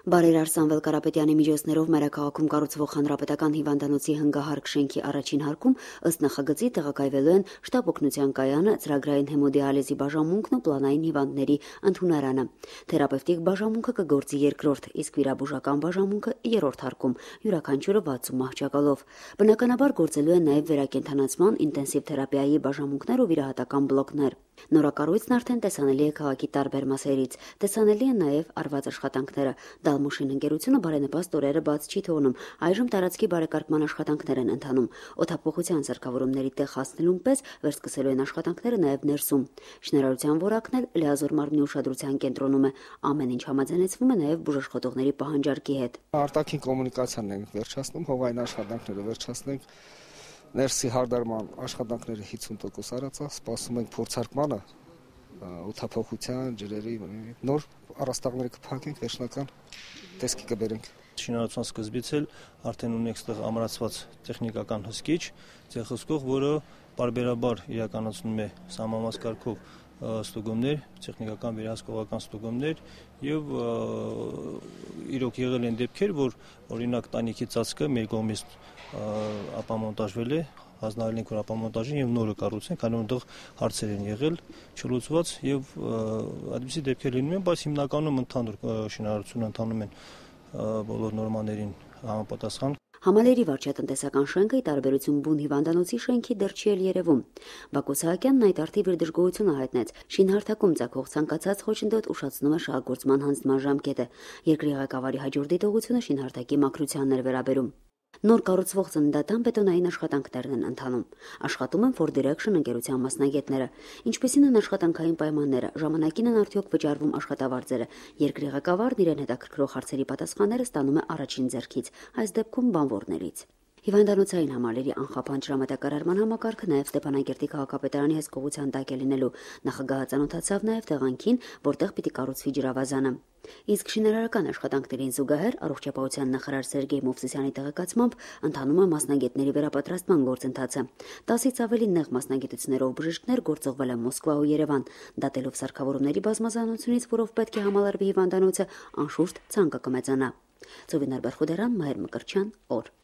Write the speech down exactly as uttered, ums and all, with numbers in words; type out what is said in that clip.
Բարերար Սամվել Կարապետյանի միջոցներով մայրաքաղաքում կառուցվող հանրապետական հիվանդանոցի հնգահարկ շենքի առաջին հարկում ըստ նախագծի տեղակայվելու են շտապ օգնության կայանը, ծրագրային հեմոդիալիզի բաժանմունքն ու պլանային հիվանդների ընդունարանը։ Թերապևտիկ բաժանմունքը կգործի երկրորդ, իսկ վիրաբուժական բաժանմունքը երրորդ հարկում, յուրաքանչյուրը վաթսուն մահճակալով։ Բնականաբար գործելու են նաև վերակենդանացման, ինտենսիվ թերապիայի բաժանմունքներ ու վիրահատական բլոկներ։ Նորակառույցն արդեն տեսանելի է քաղաքի տարբեր մասերից։ Տեսանելի են նաև արված աշխատանքները։ Դալմուշին ընկերությունը բարենպաստ օրերը բաց չի թողնում։ Այժմ տարածքի բարեկարգման աշխատանքներ են ընթանում։ Օդափոխության սարքավորումների տեղ հասնելուն պես վերսկսելու են աշխատանքները նաև ներսում։ Շինարարության որակն էլ լիազոր մարմնի ուշադրության կենտրոնում է։ Ամեն ինչ համաձայնեցվում է նաև բուժաշխատողների պահանջարկի հետ։ Արտաքին կոմունիկացիան ենք վերջացնում, հողային աշխատանքները վերջացնենք։ Ներսի հարդարման աշխատանքները հիսուն տոկոս արածա, սպասում ենք փորձարկմանը, օդափոխության, ջրերի, նոր առաստաղները կփակենք, վերջնական տեսքի կբերենք։ Շինարարության սկզբից էլ արդեն ունենք այստեղ ամրացված տեխնիկական հսկիչ, ցեղհսկող, որը պարբերաբար իրականացնում է սահմանված կարգով ստուգումներ, տեխնիկական վերահսկողական ստուգումներ եւ իրոք եղել են դեպքեր, որ օրինակ տանիքի ծածկը մեր կողմից ապամոնտաժվել է, հանձնարարել ենք որ ապամոնտաժին եւ նորը կառուցենք, այնու այնտեղ հարցեր են եղել, չլուծված եւ այդպիսի դեպքեր լինում են, բայց հիմնականում ընդհանուր շինարարությունը ընթանում են բոլոր նորմաներին համապատասխան։ Համալիրի վարչատնտեսական շենքը ի տարբերություն բուն հիվանդանոցի շենքի դեռ չի էլ երևում։ Բակո Սահակյանն այդ արդիվ իր դժգոհությունը հայտնեց։ Շինհարթակում ցակող ցանկացած խոչընդոտ ուշացնում է շահագործման հանձնման ժամկետը։ Երկրի ղեկավարի հաջորդ դիտողությունը շինհարթակի մաքրությանն էր վերաբերում։ Նոր կառուցվող ծննդատան բետոնային աշխատանքներն են ընթանում։ Աշխատում են Ford Direction ընկերության մասնագետները։ Ինչպիսին են աշխատանքային պայմանները, ժամանակին են արդյոք վճարվում աշխատավարձերը։ Երկրի ղեկավարն իրեն հետաքրքրող հարցերի պատասխանները ստանում է առաջին ձեռքից, այս դեպքում բանվորներից։ Հիվանդանոցային համալիրի անխափան ջրամատակարարման համակարգը նաև Ստեփանակերտի քաղաքապետարանի հսկողության տակ է լինելու։ Նախագահը ծանոթացավ նաև տեղանքին, որտեղ պիտի կառուցվի ջրավազանը։ Իսկ շինարարական աշխատանքներին զուգահեռ առողջապահության նախարար Սերգեյ Մովսիսյանի տեղեկացմամբ ընթանում է մասնագետների վերապատրաստման գործընթացը։ տասից ավելի նեղ մասնագիտություններով բժիշկներ գործողվել են Մոսկվա ու Երևան, դատելով սարքավորումների բազմազանությունից, որով պետք է համալրվի հիվանդանոցը, անշուշտ ցանկը կմեծանա։ Ծովինար Բերխուդերան, Մայր Մկրչյան, օր։